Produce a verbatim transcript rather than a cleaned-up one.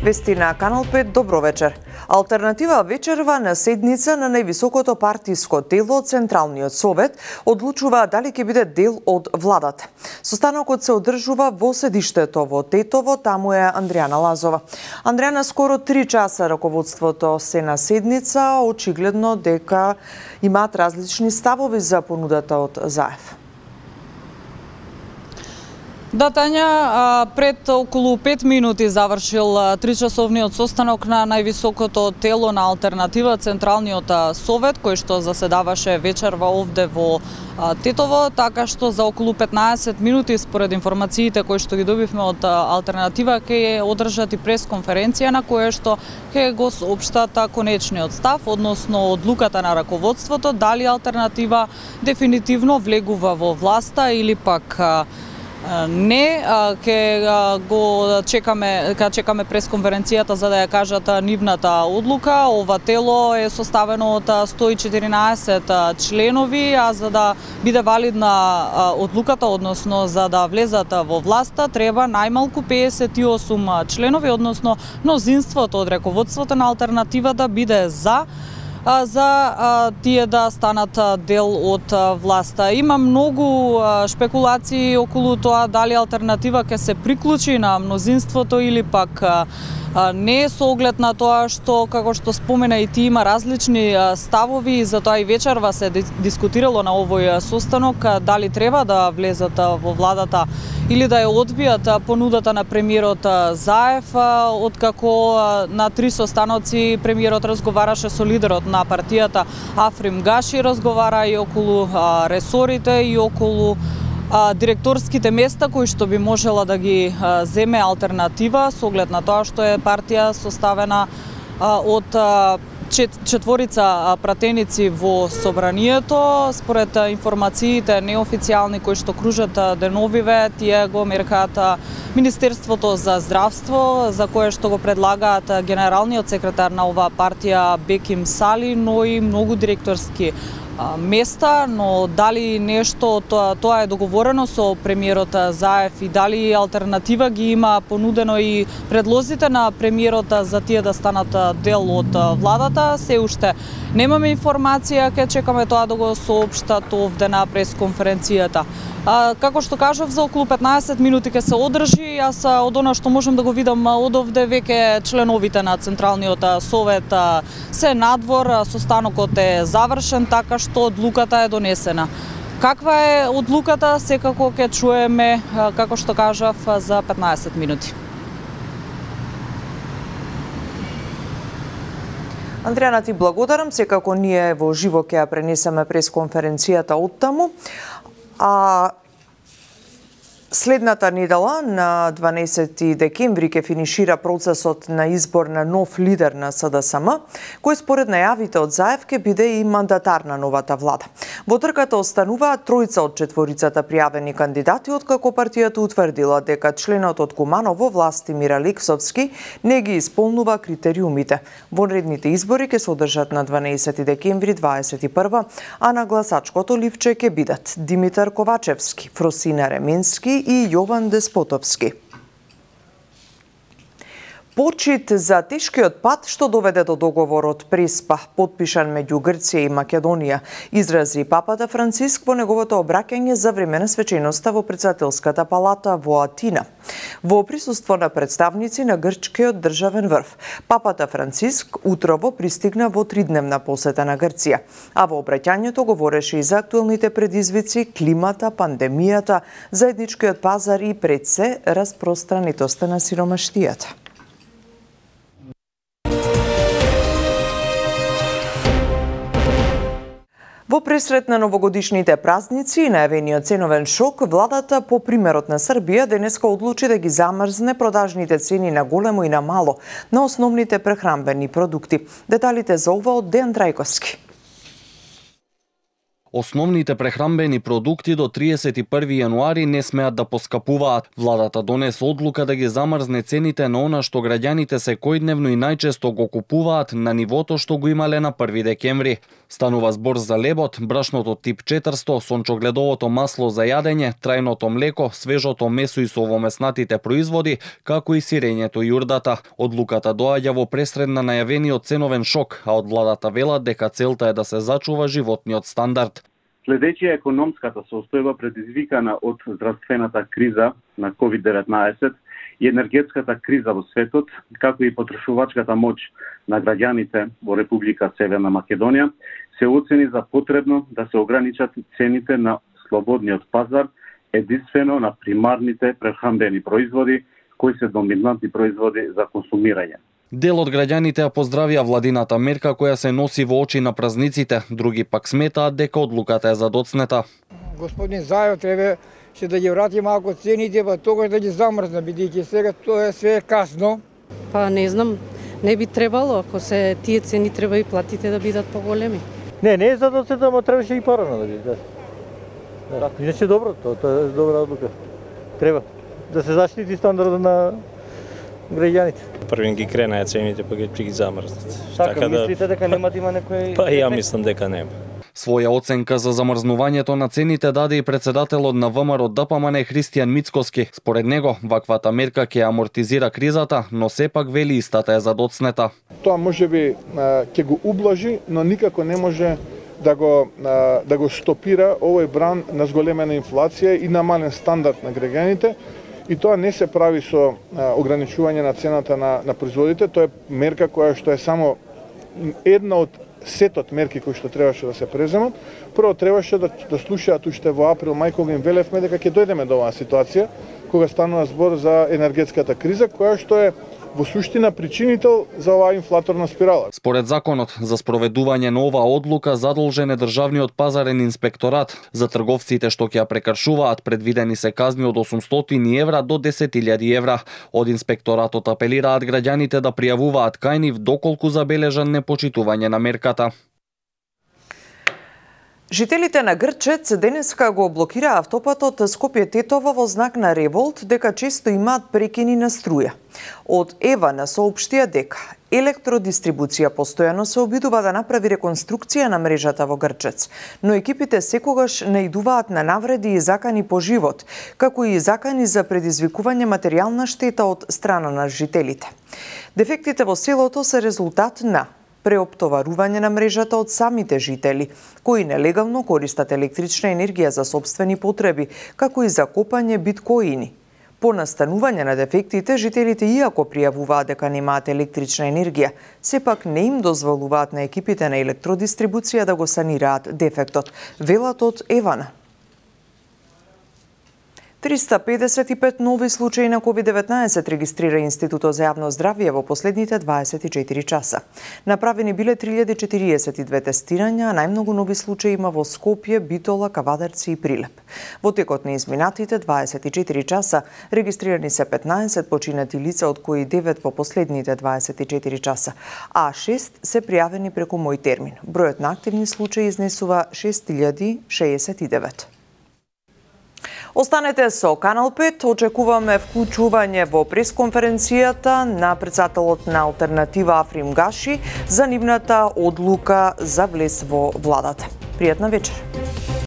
Вести на Канал пет, добро вечер. Алтернатива вечерва на седница на највисокото партиско тело, Централниот совет, одлучува дали ќе биде дел од владата. Состанокот се одржува во седиштето во Тетово, таму е Андријана Лазова. Андријана, скоро три часа раководството се на седница, очигледно дека имаат различни ставови за понудата од ЗАЕФ. Да, Тања, пред околу пет минути завршил тричасовниот состанок на највисокото тело на алтернатива, Централниот совет, кој што заседаваше вечерва овде во Тетово, така што за околу петнаесет минути, според информациите кои што ги добивме од алтернатива, ќе одржат и пресконференција на која што ќе го соопштат конечниот став, односно одлуката на раководството, дали алтернатива дефинитивно влегува во власта или пак не. Ќе го чекаме, ќе чекаме пресконференцијата за да ја кажат нивната одлука. Ова тело е составено од сто и четиринаесет членови, а за да биде валидна одлуката, односно за да влезат во власта, треба најмалку педесет и осум членови, односно мнозинството од раководството на алтернатива да биде за за тие да станат дел од власта. Има многу шпекулации околу тоа дали алтернатива ќе се приклучи на мнозинството или пак не, со оглед на тоа што, како што спомена и ти, има различни ставови и затоа и вечерва се дискутирало на овој состанок дали треба да влезат во владата или да ја одбијат понудата на премиерот ЗАЕФ, откако на три состаноци премиерот разговараше со лидерот на партијата Африм Гаши, разговара и околу ресорите и околу директорските места кои што би можела да ги земе алтернатива, со оглед на тоа што е партија составена од четворица пратеници во собранието. Според информациите неофицијални кои што кружат деновиве, тие го меркаат Министерството за здравство, за кое што го предлагаат генералниот секретар на оваа партија Беким Сали, но и многу директорски места, но дали нешто тоа, тоа е договорено со премиерот ЗАЕФ и дали алтернатива ги има понудено и предлозите на премиерот за тие да станат дел од владата, се уште немаме информација, ќе чекаме тоа да го соопштат овде на пресконференцијата. А, како што кажав, за околу петнаесет минути ќе се одржи. Јас од она што можам да го видам од овде, веќе членовите на Централниот совет се надвор, состанокот е завршен, така што одлуката е донесена. Каква е одлуката, секако ќе чуеме, како што кажав, за петнаесет минути. Андријана, ти благодарам. Секако ние во живо ќе ја пренесеме пресконференцијата од таму. А следната недела, на дванаесети декември, ќе финишира процесот на избор на нов лидер на СДСМ, кој според најавите од ЗАЕФ ќе биде и мандатар на новата влада. Во трката остануваат тројца од четворицата пријавени кандидати, откако партијата утврдила дека членот од Куманово, Властимир Алексовски, не ги исполнува критериумите. Вонредните избори ќе се одржат на дванаесети декември дваесет и прва, а на гласачкото ливче ќе бидат Димитар Ковачевски, Фросина Ременски и Јован Деспотовски. Почит за тешкиот пат што доведе до договорот Преспа, подпишан меѓу Грција и Македонија, изрази папата Франциск во неговото обраќање за време на свеченоста во Председателската палата во Атина. Во присуство на представници на грчкиот државен врв, папата Франциск утрово пристигна во тридневна посета на Грција, а во обраќањето говореше и за актуелните предизвици, климата, пандемијата, заедничкиот пазар и пред се распространитоста на сиромаштијата. Во пресрет на новогодишните празници и најавениот ценовен шок, владата по примерот на Србија денеска одлучи да ги замрзне продажните цени на големо и на мало на основните прехранбени продукти. Деталите за ова од Дејан Трајковски. Основните прехранбени продукти до триесет и први јануари не смеат да поскапуваат. Владата донесе одлука да ги замрзне цените на она што граѓаните секојдневно и најчесто го купуваат на нивото што го имале на први декември. Станува збор за лебот, брашното тип четиристо, сончогледовото масло за јадење, трајното млеко, свежото месо и совомеснатите производи, како и сирењето и јурдата. Одлуката доаѓа во пресред на најавениот ценовен шок, а од владата велат дека целта е да се зачува животниот стандард. Следејќи економската состојба предизвикана од здравствената криза на ковид деветнаесет и енергетската криза во светот, како и потрошувачката моќ на граѓаните во Република Северна Македонија, се оцени за потребно да се ограничат цените на слободниот пазар, единствено на примарните прехранбени производи, кои се доминантни производи за консумирање. Дел од граѓаните ја поздравија владината мерка која се носи во очи на празниците, други пак сметаат дека одлуката е задоцнета. Господин Заев треба ще да ги врати малку цените, па тогаш да ги замрзне, бидејќи сега тоа е све касно. Па не знам, не би требало, ако се тие цени треба и платите да бидат поголеми. Не, не е задоцнета, но требаше и порано да биде. Да. Иначе добро, тоа е добра одлука. Треба да се заштити стандардот на граѓаните. Првин ги кренаа цените, па ги замрзнат. Така, така мислите дека нема да има некој... Па ја мислам дека нема. Своја оценка за замрзнувањето на цените даде и председателот на ВМРО-ДПМН Христијан Мицкоски. Според него, ваквата мерка ќе амортизира кризата, но сепак вели истата е задоцнета. Тоа можеби ќе го ублажи, но никако не може да го да го стопира овој бран на зголемена инфлација и намален стандард на граѓаните. И тоа не се прави со ограничување на цената на, на производите, тоа е мерка која што е само една од сетот мерки кои што требаше да се преземат. Прво требаше да, да слушаат уште во април, мај, кога им велевме дека ќе дојдеме до оваа ситуација, кога станува збор за енергетската криза, која што е во суштина причинител за оваа инфлаторна спирала. Според законот за спроведување на оваа одлука задолжен е државниот пазарен инспекторат. За трговците што ќе ја прекршуваат предвидени се казни од осумстотини евра до десет илјади евра. Од инспекторатот апелираат граѓаните да пријавуваат кај нив доколку забележан непочитување на мерката. Жителите на Грчец денеска го блокираа автопатот Скопје-Тетово во знак на револт дека често имаат прекини на струја. Од Евана соопштија дека Електродистрибуција постојано се обидува да направи реконструкција на мрежата во Грчец, но екипите секогаш наидуваат на навреди и закани по живот, како и закани за предизвикување материјална штета од страна на жителите. Дефектите во селото се резултат на преоптоварување на мрежата од самите жители, кои нелегално користат електрична енергија за сопствени потреби, како и за копање биткоини. По настанување на дефектите, жителите иако пријавуваат дека немаат електрична енергија, сепак не им дозволуваат на екипите на електродистрибуција да го санираат дефектот, велат од Евана. триста педесет и пет нови случаи на ковид деветнаесет регистрира Институтот за јавно здравје во последните дваесет и четири часа. Направени биле три илјади четириесет и две тестирања, а најмногу нови случаи има во Скопје, Битола, Кавадарци и Прилеп. Во текот на изминатите дваесет и четири часа регистрирани се петнаесет починати лица, од кои девет во последните дваесет и четири часа, а шест се пријавени преку Мој термин. Бројот на активни случаи изнесува шест илјади шеесет и девет. Останете со Канал пет, очекуваме вклучување во пресконференцијата на претседателот на Алтернатива Африм Гаши за нивната одлука за влез во владата. Пријатна вечер.